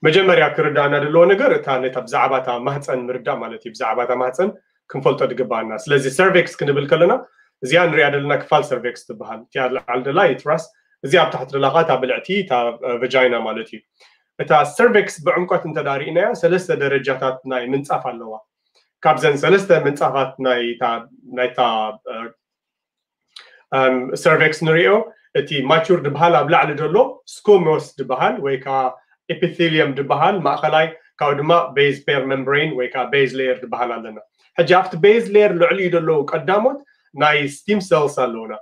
መጀመርያ ክርዳእና ዘለዎ ነገር እታ ነታ ብዛዕባ እታ ማህፀን ምርዳእ ማለት እዩ። ብዛዕባ እታ ማህፀን ክንፈልጦ ዝግባኣና። ስለዚ ሰርቬክስ ክንብል ከለና እዚኣ ንሪኣ ዘለና ክፋል ሰርቬክስ ትበሃል። እቲኣ ላዕሊ ደላ ዩትራስ፣ እዚኣ ኣብ ታሕቲ ደላ እታ ብልዕቲ እታ ቨጃይና ማለት እዩ። እታ ሰርቬክስ ብዕምቆት እንተ ሪእናያ ሰለስተ ደረጃታት ናይ ምንፃፍ ኣለዋ። ካብዘን ሰለስተ ምንፃፋት ናይታ ሰርቬክስ ንሪኦ እቲ ማቹር ዝበሃል ኣብ ላዕሊ ዘሎ ስኮሞስ ዝበሃል ወይ ከዓ ኤፒቴሊየም ዝበሃል ማእኸላይ ካብኡ ድማ ቤዝ ፔር ሜምብሬን ወይ ከዓ ቤዝ ሌየር ዝበሃል ኣለና። ሕጂ ኣብቲ ቤዝ ሌየር ልዕሊኡ ዘለዉ ቀዳሞት ናይ ስቲም ሰልስ ኣለውና።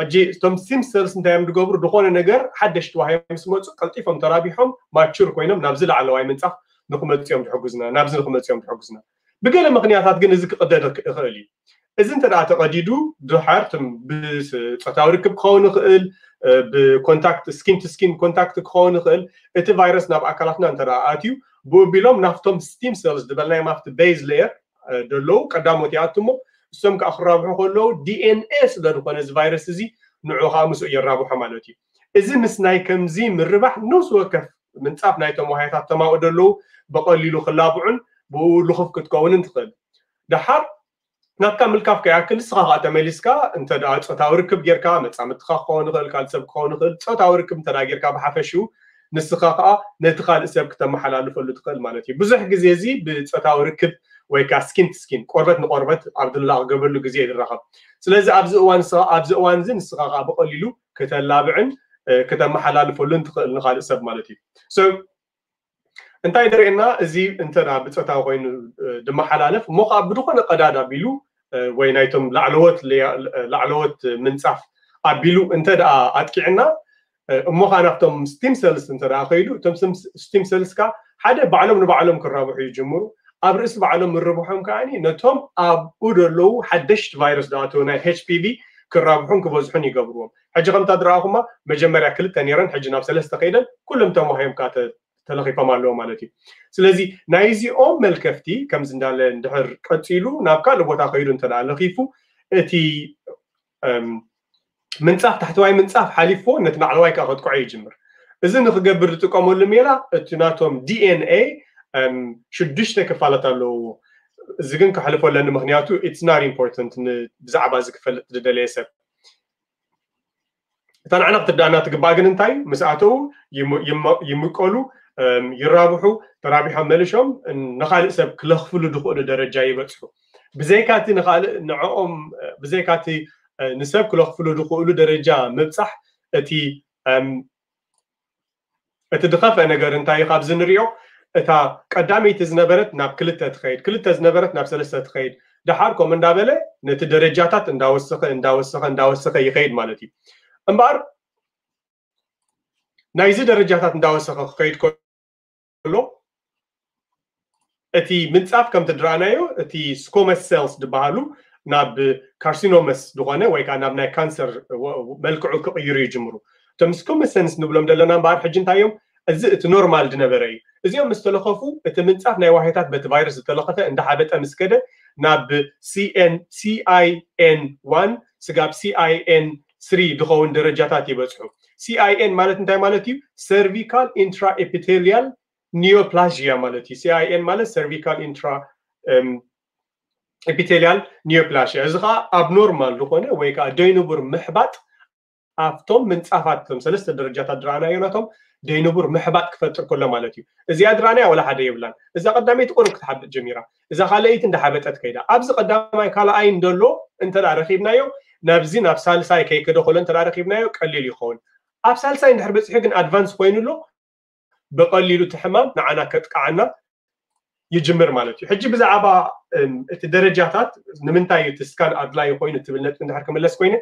ሕጂ እቶም ስቲም ሰልስ እንታይ እዮም ዝገብሩ? ዝኾነ ነገር ሓደሽቲ ተዋሂቦም ምስ መፁ ቀልጢፎም ተራቢሖም ማቹር ኮይኖም ናብዚ ላዕለዋይ ምንፃፍ ንክመፅኦም ዝሕግዙና፣ ናብዚ ንክመፅኦም ዝሕግዙና። ብገለ ምክንያታት ግን እዚ ክቅደድ ይኽእል እዩ። እዚ እንተ ደኣ ተቐዲዱ ድሓር ትም ብጾታዊ ርክብ ክኸውን ይኽእል፣ ብኮንታክት ስኪን ቱ ስኪን ኮንታክት ክኸውን ይኽእል። እቲ ቫይረስ ናብ ኣካላትና እንተ ደኣ ኣትዩ ብኡ ቢሎም ናፍቶም ስቲም ሰልስ ዝበልናዮም ኣብቲ ቤዝ ሌየር ዘለዉ ቀዳሞት ይኣቱ እሞ እሶም ከዓ ክራብሑ ከለዉ ዲኤንኤ ስለ ዝኾነ እዚ ቫይረስ እዚ ንዑ ከዓ ምስኡ የራብሖ ማለት እዩ። እዚ ምስ ናይ ከምዚ ምርባሕ ነፍሲ ወከፍ ምንፃፍ ናይቶም ዋህያታት ተማኡ ዘለዉ ብቐሊሉ ክላብዑን ብኡ ልኹፍ ክትከውንን ትኽእል። ደሓር ናትካ ምልካፍ ከይኣክል ንስኻ ከዓ ተመሊስካ እንተ ደኣ ፆታዊ ርክብ ጌርካ መፃምድትኻ ክኸውን ይኽእል ካልእ ሰብ ክኸውን ይኽእል ፆታዊ ርክብ እንተ ደኣ ጌርካ ብሓፈሽኡ ንስኻ ከዓ ነቲ ካልእ ሰብ ክተመሓላልፈሉ ትኽእል ማለት እዩ። ብዙሕ ግዜ እዚ ብፆታዊ ርክብ ወይ ከዓ ስኪን ቱ ስኪን ቆርበት ንቆርበት ኣብ ድላቕ ገበሉ ግዜ ይራኸብ። ስለዚ ኣብዚ እዋን ንስኻ ኣብዚ እዋን እዚ ንስኻ ከዓ ብቐሊሉ ክተላብዕን ክተመሓላልፈሉን ትኽእል ንካልእ ሰብ ማለት እዩ። እንታይ ደርእየና እዚ እንተ ብፆታዊ ኮይኑ ድመሓላለፍ እሞ ከዓ ብዝኾነ ቀዳድ ኣቢሉ ወይ ናይቶም ላዕለዎት ላዕለዎት ምንፃፍ ኣቢሉ እንተ ደኣ ኣጥቂዕና እሞ ከዓ ናብቶም ስቲም ሰልስ እንተ ደኣ ከይዱ እቶም ስቲም ሰልስ ከዓ ሓደ ባዕሎም ንባዕሎም ክራብሑ ይጅምሩ። ኣብ ርእሲ ባዕሎም ምርብሖም ከዓ ነቶም ኣብኡ ዘለዉ ሓደሽቲ ቫይረስ ዝኣተዉ ናይ ኤች ፒ ቪ ክራብሑን ክበዝሑን ይገብርዎም። ሕጂ ከምታ ዝረኣኹማ መጀመርያ ክልተ ነይረን ሕጂ ናብ ሰለስተ ከይደን ኩሎም ተማሂዮም ከዓ ተለኺፎም ኣለዉ ማለት እዩ። ስለዚ ናይዚኦም መልከፍቲ ከምዚ እንዳለ እንድሕር ቀፂሉ ናብ ካልእ ቦታ ከይዱ እንተ ለኺፉ እቲ ምንፃፍ ታሕተዋይ ምንፃፍ ሓሊፍዎ ነቲ ላዕለዋይ ከዓ ከጥቅዖ ይጅምር። እዚ ንክገብር ዝጥቀመሉ ሜላ እቲ ናቶም ዲኤንኤ ሽዱሽተ ክፋላት ኣለዎ። እዚ ግን ከሕልፎ ኣለኒ ምክንያቱ it's not important ብዛዕባ እዚ ክፈልጥ ዝደለየ ሰብ እታ ንዓና ክትዳና ትግባእ ግን እንታይ ምስ ኣተው ይምቀሉ ይራብሑ ተራቢሖም መልሾም ንካልእ ሰብ ክለኽፍሉ ዝኽእሉ ደረጃ ይበፅሑ። ብዘይካቲ ንካልእ ንዕኦም ብዘይካቲ ንሰብ ክለኽፍሉ ዝኽእሉ ደረጃ ምብፃሕ እቲ እቲ ዝኸፍአ ነገር እንታይ እዩ ካብዚ ንሪኦ እታ ቀዳመይቲ ዝነበረት ናብ ክልተ ትኸይድ ክልተ ዝነበረት ናብ ሰለስተ ትኸይድ ደሓር ከምኡ እንዳበለ ነቲ ደረጃታት እንዳወሰኸ እንዳወሰኸ እንዳወሰኸ ይኸይድ ማለት እዩ። እምበኣር ናይዚ ደረጃታት እንዳወሰኸ ክኸይድ ከሎ እቲ ምንፃፍ ከምቲ ድረኣናዮ እቲ ስኮመስ ሴልስ ዝበሃሉ ናብ ካርሲኖመስ ዝኾነ ወይ ከዓ ናብ ናይ ካንሰር መልክዑ ክቕይሩ ይጅምሩ። እቶም ስኮመስ ሴልስ ንብሎም ዘለና እምበኣር ሕጂ እንታይ እዮም? እዚ እቲ ኖርማል ዝነበረ እዩ። እዚኦም ምስ ተለኸፉ እቲ ምንፃፍ ናይ ዋህዮታት በቲ ቫይረስ ዝተለኸፈ እንዳሓበጠ ምስ ከደ ናብ ሲኣይኤን ዋን ስጋብ ሲኣይኤን ስሪ ዝኸውን ደረጃታት ይበፅሑ። ሲኣይኤን ማለት እንታይ ማለት እዩ? ሰርቪካል ኢንትራ ኤፒቴሊያል ኒዮፕላዥያ ማለት እዩ። ሲኣይኤን ማለት ሰርቪካል ኢንትራ ኤፒቴሊያል ኒዮፕላሽያ እዚ ከዓ ኣብ ኖርማል ዝኾነ ወይ ከዓ ደይንቡር ምሕባጥ ኣብቶም ምንፃፋት እቶም ሰለስተ ደረጃታት ዝረኣናዮ ናቶም ደይንቡር ምሕባጥ ክፈጥር ከሎ ማለት እዩ። እዚኣ ዝረኣናያ ወላ ሓደ የብላን። እዛ ቀዳመይቲ ቁሩብ ክትሓብጥ ጀሚራ፣ እዛ ካልኣይቲ እንዳሓበጠት ከይዳ ኣብዚ ቀዳማይ ካልኣይ እንደሎ እንተ ረኪብናዮ ናብዚ ናብ ሳልሳይ ከይከደ ከሎ እንተ ረኪብናዮ ቀሊል ይኸውን። ኣብ ሳልሳይ እንድሕር በፂሑ ግን ኣድቫንስ ኮይኑ ኣሎ ብቐሊሉ እቲ ሕማም ንዓና ከጥቅዓና ይጅምር ማለት እዩ። ሕጂ ብዛዕባ እቲ ደረጃታት ንምንታይ እቲ ስካን ኣድላይ ኮይኑ ትብል ነጥቢ እንድሕር ክምለስ ኮይነ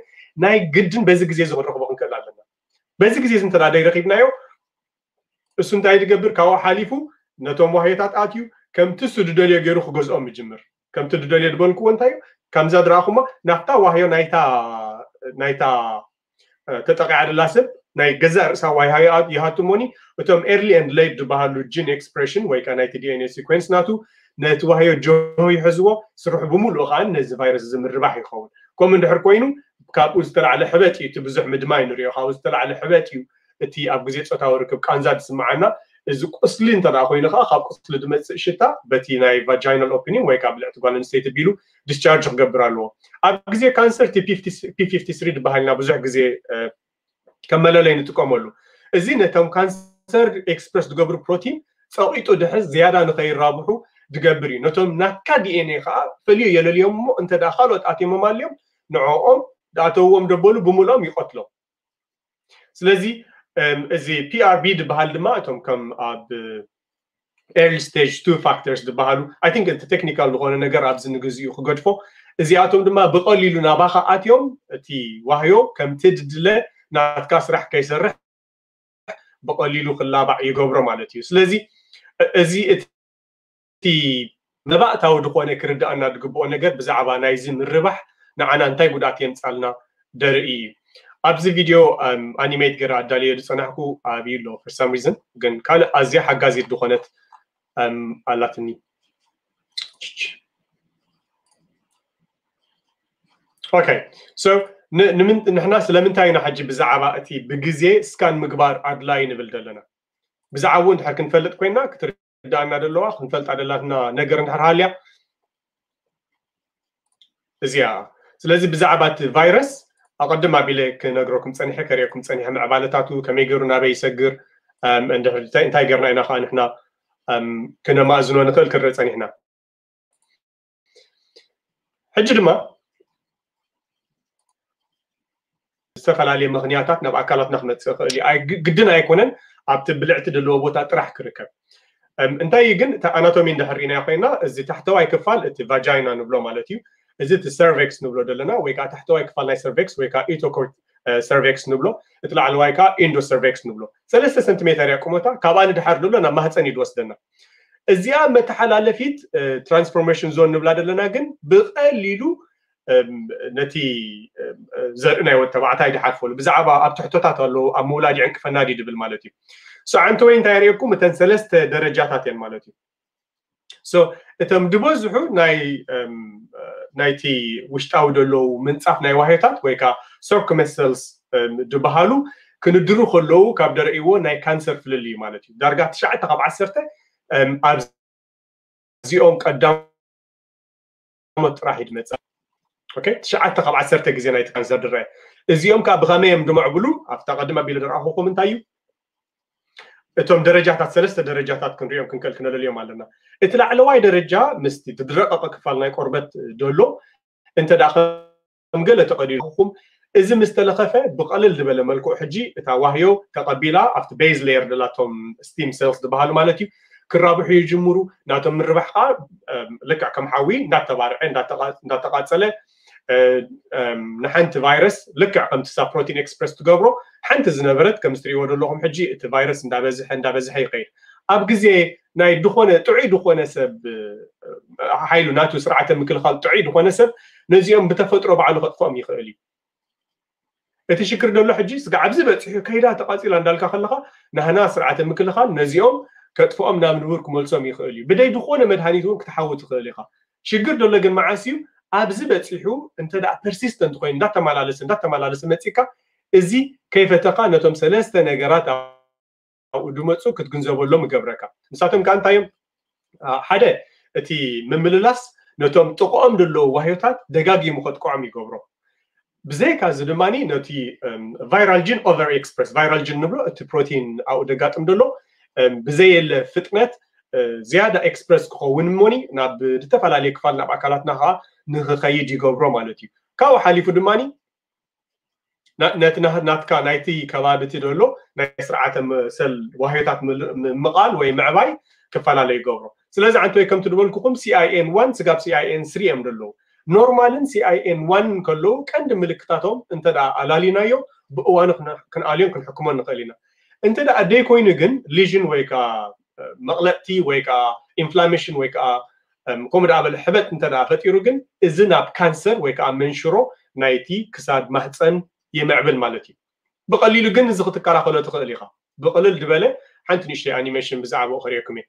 ናይ ግድን በዚ ግዜ እዚ ክንረኽቦ ክንክእል ኣለና። በዚ ግዜ እዚ እንተ ደይረኪብናዮ እሱ እንታይ ዝገብር ካብኡ ሓሊፉ ነቶም ዋህዮታት ኣትዩ ከምቲ እሱ ዝደልዮ ገይሩ ክገዝኦም ይጅምር። ከምቲ ዝደልዮ ዝበልክዎ እንታይ እዩ? ከምዛ ዝረኣኹማ ናብታ ዋህዮ ናይታ ናይታ ተጠቂዓ ደላ ሰብ ናይ ገዛእ ርእሳ ዋህዮ ይሃቱ እሞኒ እቶም ኤርሊ ኤንድ ሌት ዝበሃሉ ጂን ኤክስፕሬሽን ወይ ከዓ ናይቲ ዲኤንኤ ሲኮንስ ናቱ ነቲ ዋህዮ ጆሆ ይሕዝዎ ስርሑ ብምሉኡ ከዓ ነዚ ቫይረስ እዚ ምርባሕ ይኸውን። ከምኡ እንድሕር ኮይኑ ካብኡ ዝተላዕለ ሕበጥ እዩ እቲ ብዙሕ ምድማይ ንሪኦ ካብኡ ዝተላዕለ ሕበጥ እዩ እቲ ኣብ ግዜ ፆታዊ ርክብ ቃንዛ ዝስምዓና እዚ ቁስሊ እንተ ኮይኑ ከዓ ካብ ቁስሊ ዝመፅእ ሽታ በቲ ናይ vaginal opening ወይ ከዓ ብልዕቲ ጓል ኣንስተይቲ ቢሉ discharge ክገብር ኣለዎ። ኣብ ግዜ ካንሰር ቲ ፒ ፊፍቲ ስሪ ዝበሃል ኢና ብዙሕ ግዜ ከም መለለይ ንጥቀመሉ። እዚ ነቶም ካንሰር ኤክስፕረስ ዝገብሩ ፕሮቲን ፀቂጡ ድሕዝ ዝያዳ ንከይራብሑ ዝገብር እዩ። ነቶም ናትካ ዲኤንኤ ከዓ ፈልዩ የለልዮም እሞ እንተ ካልኦት ኣትዮም ኣልዮም ንዕኦም ዝኣተውዎም ደበሉ ብምልኦም ይቀትሎም። ስለዚ እዚ ፒ ኣር ቢ ዝበሃል ድማ እቶም ከም ኣብ early stage two factors ዝበሃሉ I think እቲ ቴክኒካል ዝኾነ ነገር ኣብዚ ንግዚኡ ክገድፎ። እዚኣቶም ድማ ብቐሊሉ ናባኻ ኣትዮም እቲ ዋህዮ ከምቲ ድድለ ናትካ ስራሕ ከይሰርሕ ብቐሊሉ ክላባዕ ይገብሮ ማለት እዩ። ስለዚ እዚ እቲ መባእታዊ ዝኾነ ክርዳእና ዝግብኦ ነገር ብዛዕባ ናይዚ ምርባሕ ንዓና እንታይ ጉድኣት የምፃልና ደርኢ እዩ። ኣብዚ ቪድዮ ኣኒሜት ገይረ ኣዳልዮ ዝፀናሕኩ ኣብዩ ኣሎ for some reason፣ ግን ካልእ ኣዝያ ሓጋዚት ዝኾነት ኣላትኒ። ኦኬ፣ so ንሕና ስለምንታይ ኢና ሕጂ ብዛዕባ እቲ ብግዜ ስካን ምግባር ኣድላይ ንብል ዘለና? ብዛዕባኡ እንድሕር ክንፈልጥ ኮይና ክትርዳእና ደለዋ ክንፈልጣ ደላትና ነገር እንድሕር ሃልያ እዚኣ። ስለዚ ብዛዕባ እቲ ቫይረስ ኣቐድም ኣቢለ ክነግረኩም ፀኒሐ፣ ከርእየኩም ፀኒሐ፣ ምዕባለታቱ ከመይ ገይሩ ናበይ ይሰግር፣ እንታይ ገርና ኢና ከዓ ንሕና ክነማእዝኖ ንኽእል ክንርኢ ፀኒሕና። ሕጂ ድማ ዝተፈላለየ ምኽንያታት ናብ ኣካላትና ክመፅእ ይኽእል እዩ። ግድን ኣይኮነን ኣብቲ ብልዕቲ ዘለዎ ቦታ ጥራሕ ክርከብ። እንታይ ግን እቲ ኣናቶሚ እንድሕር ርኢናዮ ኮይና፣ እዚ ታሕተዋይ ክፋል እቲ ቫጃይና ንብሎ ማለት እዩ። እዚ እቲ ሰርቬክስ ንብሎ ዘለና ወይ ከዓ ታሕተዋይ ክፋል ናይ ሰርቬክስ ወይ ከዓ ኢቶኮርት ሰርቬክስ ንብሎ፣ እቲ ላዕለዋይ ከዓ ኢንዶ ሰርቬክስ ንብሎ። ሰለስተ ሰንቲሜተር እያ ቁመታ። ካብኣ ንድሓር ንብሎ ናብ ማህፀን እዩ ዝወስደና። እዚኣ መተሓላለፊት ትራንስፎርሜሽን ዞን ንብላ ዘለና ግን ብቐሊሉ ነቲ ዘርኢ ናይ ወዲ ተባዕታይ ድሓልፈሉ ብዛዕባ ኣብ ትሕቶታት ኣለዉ ኣብ ምውላድ ይዕንቅፈና ድዩ ድብል ማለት እዩ። ዓንተወይ እንታይ የርእየኩም? እተን ሰለስተ ደረጃታት እየን ማለት እዩ። እቶም ዝበዝሑ ናይቲ ውሽጣዊ ዘለዉ ምንፃፍ ናይ ዋህዮታት ወይ ከዓ ሰርኩመሰልስ ድበሃሉ ክንድሩ ከለዉ ካብ ደርእይዎ ናይ ካንሰር ፍልልዩ ማለት እዩ። ዳርጋ ትሽዓተ ካብ ዓሰርተ ኣብዚኦም ቀዳሞት ጥራሕ እዩ ዝመፅእ። ትሽዓተ ካብ ዓሰርተ ግዜ ናይቲ ካንሰር ድረአ። እዚኦም ከዓ ብኸመይ እዮም ድምዕብሉ? ኣብታ ቀድም ኣቢለ ዝረኣኹኹም እንታይ እዩ? እቶም ደረጃታት ሰለስተ ደረጃታት ክንሪኦም ክንከል ክነለልዮም ኣለና። እቲ ላዕለዋይ ደረጃ ምስቲ ዝረቀቐ ክፋል ናይ ቆርበት ደሎ እንተ ደኣ ከም ገለ ተቐዲድኩም እዚ ምስ ተለኸፈ ብቐልል ዝበለ መልክዑ ሕጂ እታ ዋህዮ ተቐቢላ ኣብቲ ቤዝ ሌየር ደላቶም ስቲም ሴልስ ዝበሃሉ ማለት እዩ ክራብሑ ይጅምሩ። ናቶም ምርባሕ ከዓ ልክዕ ከም ሓዊ እንዳተባርዐ እንዳተቃፀለ ንሓንቲ ቫይረስ ልክዕ ከምቲ እሳ ፕሮቲን ኤክስፕረስ ትገብሮ ሓንቲ ዝነበረት ከም ትሪእዎ ዘለኹም ሕጂ እቲ ቫይረስ እንዳበዝሐ እንዳበዝሐ ይኸይድ። ኣብ ግዜ ናይ ዝኾነ ጥዑይ ዝኾነ ሰብ ሓይሉ ናቱ ስርዓተ ምክልኻል ጥዑይ ዝኾነ ሰብ ነዚኦም ብተፈጥሮ ባዕሉ ከጥፍኦም ይኽእል እዩ። እቲ ሽግር ዘሎ ሕጂ ስጋዕ ኣብዚ በፂሑ ከይዳ ተቃፂላ እንዳልካ ከለካ ናህና ስርዓተ ምክልኻል ነዚኦም ከጥፍኦም ናብ ንቡር ክመልሶም ይኽእል እዩ። ብደይ ዝኾነ መድሃኒት እውን ክትሓዊ ትኽእል ኢኻ። ሽግር ዘሎ ግን መዓስ እዩ? ኣብዚ በፂሑ እንተ ደኣ ፐርሲስተንት ኮይኑ እንዳተመላለሰ እንዳተመላለሰ መፂካ እዚ ከይፈተኻ ነቶም ሰለስተ ነገራት ኣብኡ ድመፁ ክትግንዘበሎም ይገብረካ። ንሳቶም ከዓ እንታይ እዮም? ሓደ እቲ ምምልላስ ነቶም ጥቕኦም ዘለዉ ዋህዮታት ደጋጊሙ ከጥቅዖም ይገብሮ። ብዘይካ እዚ ድማ ነቲ ቫይራል ጂን ኦቨር ኤክስፕረስ ቫይራል ጂን ንብሎ እቲ ፕሮቲን ኣብኡ ደጋጥም ዘሎ ብዘየለ ፍጥነት ዝያዳ ኤክስፕረስ ክኸውን እሞኒ ናብ ዝተፈላለዩ ክፋል ናብ ኣካላትና ከዓ ንክኸይድ ይገብሮ ማለት እዩ። ካብኡ ሓሊፉ ድማ ነቲ ናትካ ናይቲ ከባቢ እቲ ዘሎ ናይ ስርዓተ ሰል ዋህዮታት ምምቓል ወይ ምዕባይ ክፈላለ ይገብሮ። ስለዚ ዓንተወይ ከምቲ ዝበልኩኹም ሲ ኣይ ኤን ዋን ስጋብ ሲ ኣይ ኤን ስሪ እዮም ዘለዉ። ኖርማልን ሲ ኣይ ኤን ዋን ከለዉ ቀንዲ ምልክታቶም እንተ ደኣ ኣላሊናዮ ብእዋኑ ክንኣልዮን ክንሕክሞን ንኽእል ኢና። እንተ ደኣ ደይኮይኑ ግን ሊዥን ወይ ከዓ መቕለጥቲ ወይ ከዓ ኢንፍላሜሽን ወይ ከዓ ከምኡ ደኣ በለ ሕበጥ እንተ ደኣ ፈጢሩ ግን እዚ ናብ ካንሰር ወይ ከዓ መንሽሮ ናይቲ ክሳድ ማህፀን ይምዕብል ማለት እዩ። ብቐሊሉ ግን እዚ ክትከላኸሎ ትኽእል ኢኻ። ብቕልል ዝበለ ሓንቲ ንእሽተይ ኣኒሜሽን ብዛዕባኡ ከርእየኩም እየ።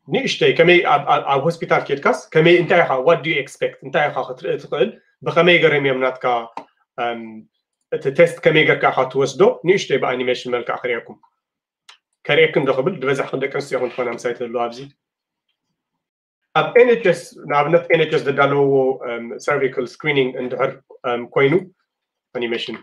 ንእሽተይ ከመይ ኣብ ሆስፒታል ኬድካስ ከመይ እንታይ ኢኻ what do you expect እንታይ ኢኻ ክትርኢ ትኽእል ብኸመይ ገረም እዮም ናትካ እቲ test ከመይ ጌርካ ኢኻ ትወስዶ ንእሽተይ ብኣኒሜሽን መልክዕ ክርእየኩም ከርእየክን ዶ ክብል ዝበዛሕክን ደቂ ኣንስትዮ ኢኹም ትኾና ምሳይ ትህልዋ ኣብዚ ኣብ NHS ንኣብነት NHS ዘዳለውዎ cervical screening እንድሕር ኮይኑ ኣኒሜሽን